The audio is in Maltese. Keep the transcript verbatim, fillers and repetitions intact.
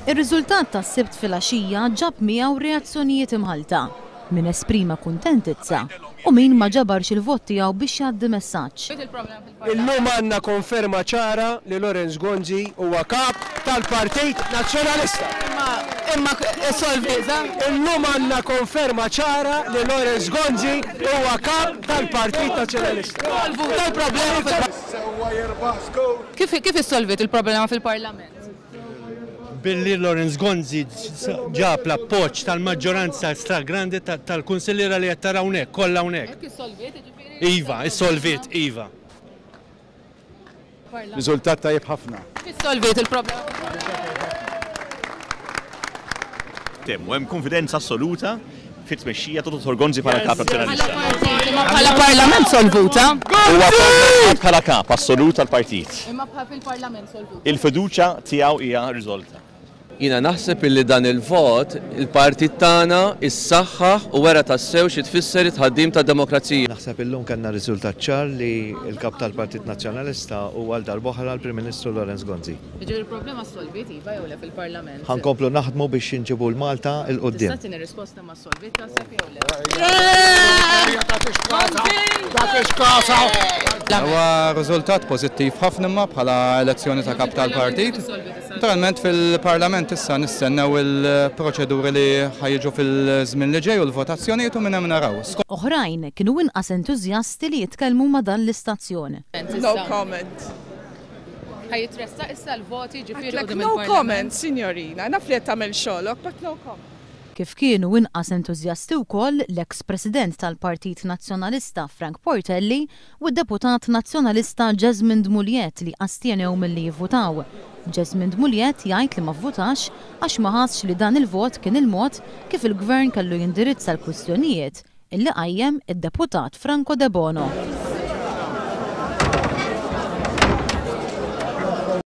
Ir-riżultat tas-Sibt filgħaxija ġab miegħu reazzjonijiet imħalta. Min esprima kuntentizza u min ma ġabarx il-vot tiegħu biex jgħaddi messaġġ. Illum għandna konferma ċara li Lawrence Gonzi huwa kap tal-Partit Nazzjonalista. Imma solviza? Illum għandna konferma ċara li Lawrence Gonzi huwa kap tal-Partit Nazzjonalista. Tal-problema Kif kif issolvit il-problema fil-Parlament? Billi Lawrence Gonzi ġab l-appoġġ tal-maġġoranza stragrandi tal-kunsilliera li qed tara hawnhekk, kollha hawnhekk. Iva, issolvit, iva. Riżultat tajjeb ħafna. Kif issolvit il-problema? Temmu hemm konfidenza assoluta fit-tmexxija ta' Dottor Gonzi bħala kap nazzjonalista. Bħala parlament solvuta? Huwa bħala kap assolut tal-partit. Imma bħala fil-parlament solvuta. Il-fiduċja tiegħu hija riżolta. Jiena naħseb illi dan il-vot il-partit tagħna issaħħaħ u wera tassew xi tfisser it-tħaddim tad-demokrazija. Naħseb illum kellna riżultat ċar li l-kap tal-Partit Nazzjonalista huwa għal darb'oħra l-Prim Ministru Lawrence Gonzi. Jiġifieri il-problema solvit iva jew le fil-Parlament? Ħa nkomplu naħdmu biex inġibu l-Malta 'l quddiem. Tista' tini risposta ma solvit taħseb jew le? Huwa riżultat pożittiv ħafna imma bħala elezzjoni ta' kap tal-partit. Naturalment fil-Parlament issa nistennew il-proċeduri li ħa jiġu fil-żmien li ġej u l-votazzjonijiet u minn hemm naraw. Oħrajn kienu inqas entużjasti li jitkellmu ma' dan l-istazzjon. No comment. Ħa jitressaq issa l-voti ġifieri Like, no comment, signorina. Naf li qed tagħmel xogħolok, but no comment. Kif kienu inqas entużjasti wkoll l-eks President tal-Partit Nazzjonalista Frank Portelli u d-deputat Nazzjonalista Jesmond Mugliett li astjenew milli jivvutaw. Jesmond Mugliett jgħid li ma vvutax għax ma ħassx li dan il-vot kien il-mod kif il-gvern kellu jindirizza l-kwistjonijiet illi qajjem id-deputat Franco Debono.